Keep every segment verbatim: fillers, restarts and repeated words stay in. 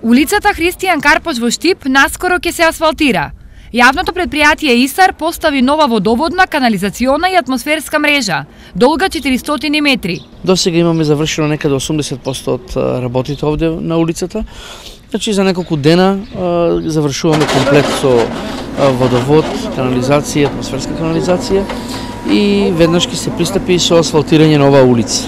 Улицата Христијан Карпош во Штип наскоро ќе се асфалтира. Јавното предпријатие ИСАР постави нова водоводна, канализациона и атмосферска мрежа, долга четиристотини метри. До сега имаме завршено некаде осумдесет проценти од работите овде на улицата. Значи за неколку дена завршуваме комплет со водовод, канализација, атмосферска канализација и веднаш ќе се пристапи со асфалтирање на оваа улица.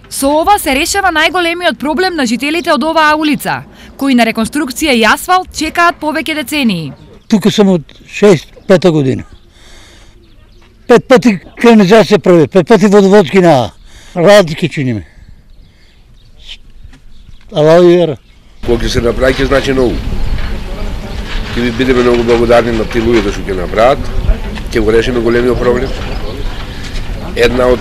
Со ова се решава најголемиот проблем на жителите од оваа улица, кои на реконструкција и асфалт чекаат повеќе децении. Тука сум од шест-пета година. Пет пати канализација прави, пет пати водоводки на работи ќе чиниме. Ала вера. Кога ќе се направи, ќе значи многу. Ќе ви бидеме многу благодарни на тие луѓе што ќе направат, ќе го решиме големиот проблем. Една од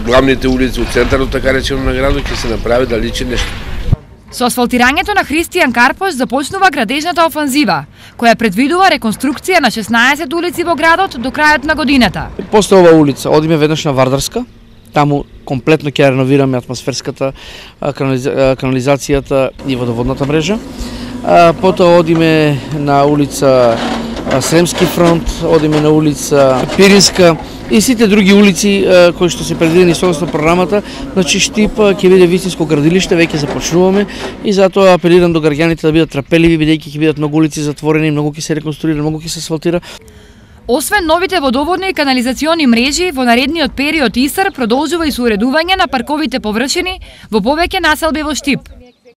главните улици од центарот, така речено, на градот ќе се направи да личи нешто. Со асфалтирањето на Христијан Карпош започнува градежната офанзива, која предвидува реконструкција на шеснаесет улици во градот до крајот на годината. После оваа улица одиме веднаш на Вардарска, таму комплетно ќе реновираме атмосферската, канализацијата и водоводната мрежа. Потоа одиме на улица Сремски фронт, одиме на улица Пиринска и сите други улици кои што се предвидени согласно програмата. Значи Штип ќе биде вистинско градилиште, веќе започнуваме и затоа апелирам до граѓаните да бидат трпеливи, бидејќи ќе бидат многу улици затворени, многу ќе се реконструира, многу ќе се асфалтира. Освен новите водоводни и канализациони мрежи, во наредниот период ИСАР продолжува и со уредување на парковите површини во повеќе населби во Штип.